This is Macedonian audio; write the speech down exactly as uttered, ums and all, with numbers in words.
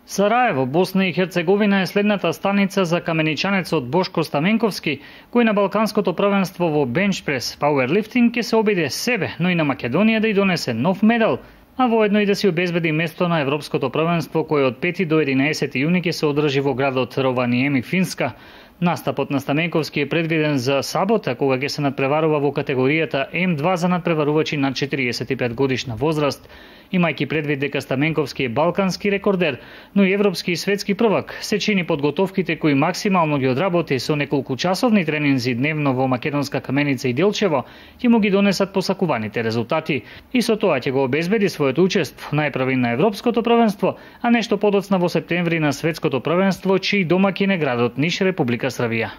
Сараево, Босна и Херцеговина е следната станица за каменичанецот Бошко Стаменковски, кој на Балканското првенство во бенчпрес пауерлифтинг ќе се обиде себе, но и на Македонија да ја донесе нов медал, а воедно и да си обезбеди место на Европското првенство кој од пети до единаесети јуни ќе се одржи во градот Рованиеми, Финска. Настапот на Стаменковски е предвиден за сабота, кога ќе се надпреварува во категоријата М два за надпреварувачи над четириесет и пет годишна возраст. Имајќи предвид дека Стаменковски е балкански рекордер, но и европски и светски prvак, се чини подготовките кои максимално ги одработи со неколку часовни тренинзи дневно во Македонска Каменица и Делчево, ќе му ги донесат посакуваните резултати и со тоа ќе го обезбеди своето учество најпрви на Европското првенство, а нешто подоцна во септември на Светското првенство, чиј домаќин е градот Ниш, Република Србија.